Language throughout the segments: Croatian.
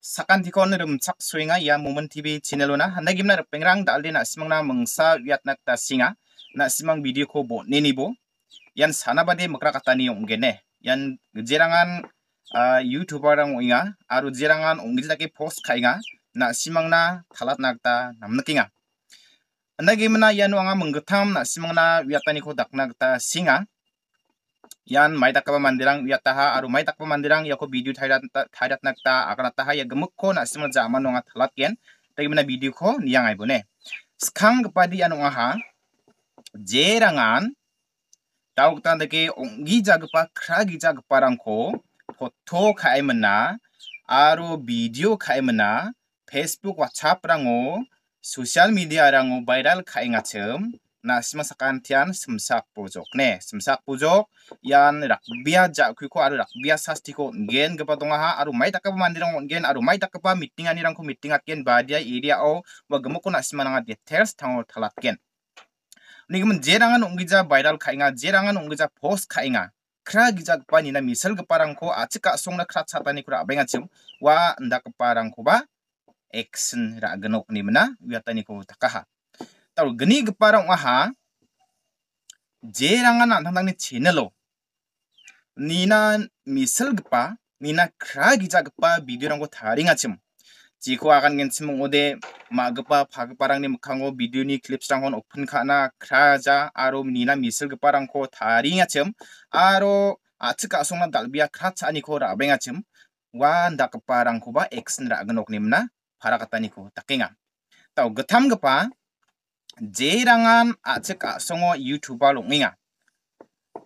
Sakan tikon rumchak suinga ya Moment TV channelona handagimna pengrang dalde na simangna mengsa wiatnak ta singa na simang video ko bo nenibo yan sanabade makra katani ongene yan jerangan YouTuber rang inga aru jerangan ongjake post kainga na simangna thalat nakta namnakinga handagimna yanu anga menggetam na simangna wiatani ko daknakta singa yan mai takpa mandirang yataha aru mai takpa mandirang yako video thairat nakta akanataha ya gemukko na simang zaman nonga thalat ken tagimna video ko niyang ai bone skang gepadi anu aha jerangan dauktan deke onggi jagpa kragi jagparangko foto kaimena aru video kaimena Facebook WhatsApp rango social media rango viral kaingachem na simang sakantian semsak pojok ne semsak pojok yan rakbia jakhuiko aru rakbia sastiko gen gepa dongaha aru mai takapa mandirang ongen aru mai takapa meeting anirangko meeting atken badia area o wa gemukko na simanga details tango talatken nigemen jerangan onggija viral kainga jerangan onggija post kainga kra gijak nina misal geparangko achika songna kra chatani kura abengachim wa ndakparangko ba action ra genok ni mena wiatani ko takaha tahu geni geparang aha jerangan antang ni channelo nina misal gepa nina kra gija gepa video rangko taringachim jiko akan gensimung ode magepa phageparang ni mukhango video ni clips rangon open khana kraja aro nina misal geparangko taringachim aro achika songna dalbia kratchani ko rabengachim wa ndakparangko ba action ra genok ni mena parakatani ko takenga tahu getam gepa jerangan achika songo YouTuber longinga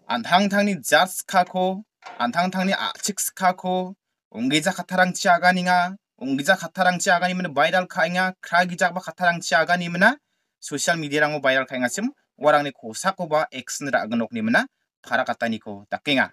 antang-tangni judge kako antang-tangni achik kako onggeja khatarang chiaganinga onggeja khatarang chiagani mena viral khainga kragijak ba khatarang chiagani mena social media rango viral khainga sim warangni kosako ba action ra gnok ni mena pharakatani ko takenga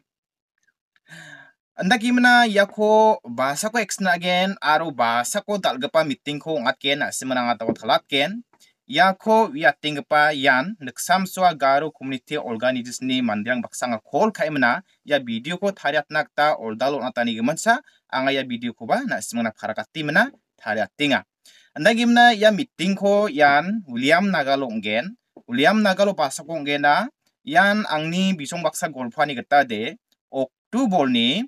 andaki mena yako bahasa ko action again aro bahasa ko dalgapa meeting ko ngatken asimananga taw thalatken yako wiating pa yan neksamswa garo community organization ni mandirang baksanga call kaimena ya video ko thariat nakta oldalo natani gemansa anga ya video ko ba na simana pharakati mena thariatinga andagimna ya meeting ko yan William Nagalo bahasa ko ngena yan angni bisong baksa golfani geta de Oktober ni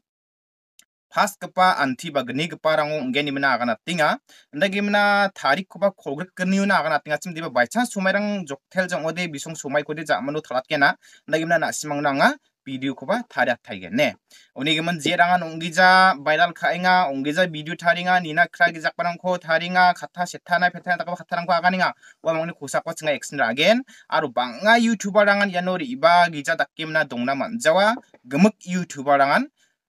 pas kepa anti bagni keparang ngeni mena akan tinga ndagi mena tarik koba kogrek keniuna akan tinga sim diba by chance sumairang joktel jang ode bisong sumai kode jamanu thalat kena ndagi mena na simang nanga video koba tharia thaigen ne uni geman jerangan onggija viral khainga onggija video tharinga nina kragi jakparang ko tharinga khatha sethana phethana takaba khatharang ko aganinga wa mangni khosa ko chinga action again aru banga YouTuber rangan yanori iba gija dakkimna dongna manjawa gemuk YouTuber rangan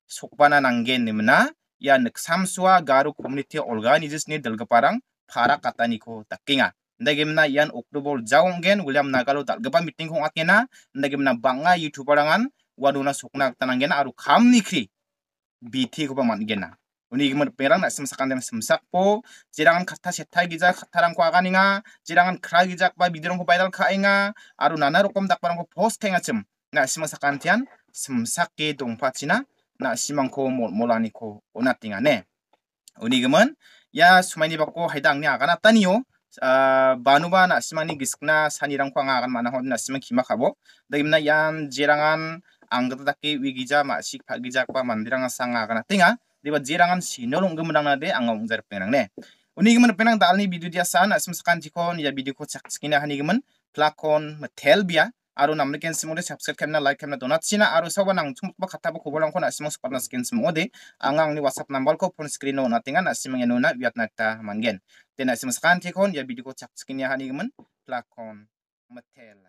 sokbana nanggen nimna ya neksamswa garu community organization ni dalgaparang phara katani ko takinga ndagimna yan Oktober jawonggen William Nagalo dalgaba meeting ko akena ndagimna banga YouTuber rangan waduna sokna tananggen aru khamni khri BT ko pamangena uni gimar perang na semsakan dem semsak po jirangan khatha setai gija khatharang ko aganinga jirangan khra gijak ba video ko viral khainga aru nana rokom dakparang ko post kaingachem na semsakan tian semsakke dongpachina na simangko molani ko onatinga ne uni gemen ya sumaini bako haidang ni akan ataniyo banuba na simani giskna sanirang ko akan mana hon na simang khima khabo dagimna yan jerangan anggata daki wigija ma sik phagijak pa mandirang sanga akan atinga diba jerangan sinolong gemrang na de angong jar penang ne uni gemen penang dalni video dia san asim sakan jikon ya video ko chakskina hani gemen plakon telbia aru namne ken simode subscribe kemna like kemna donat sina aru sawa nang chumba khatabo kobolang ko na simong sparna skin simode angang ni WhatsApp number ko phone screen no natinga na simang yanuna wiat nakta mangen tena simang sakan tikon ya video ko chak skin ya hani gemen plakon metel